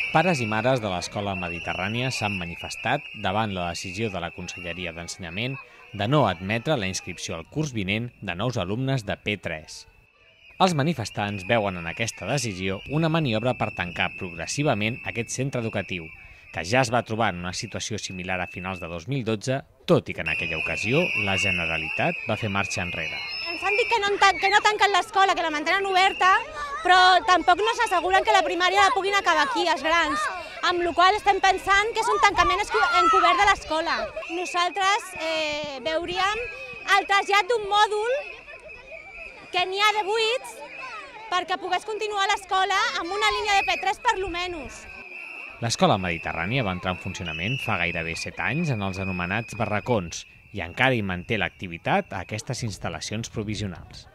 Pares i mares de l'Escola Mediterrània s'han manifestat davant la decisió de la Conselleria d'Ensenyament de no admetre la inscripció al curs vinent de nous alumnes de P3. Els manifestants veuen en aquesta decisió una maniobra per tancar progressivament aquest centre educatiu, que ja es va trobar en una situació similar a finals de 2012, tot i que en aquella ocasió la Generalitat va fer marxa enrere. Ens han dit que no tanquen l'escola, que la mantenen oberta, però tampoc no s'asseguren que la primària la puguin acabar aquí, els grans, amb la qual cosa estem pensant que és un tancament encobert de l'escola. Nosaltres veuríem el trasllat d'un mòdul que n'hi ha de buits perquè pogués continuar l'escola amb una línia de P3 per lo menys. L'Escola Mediterrània va entrar en funcionament fa gairebé 7 anys en els anomenats barracons i encara hi manté l'activitat a aquestes instal·lacions provisionals.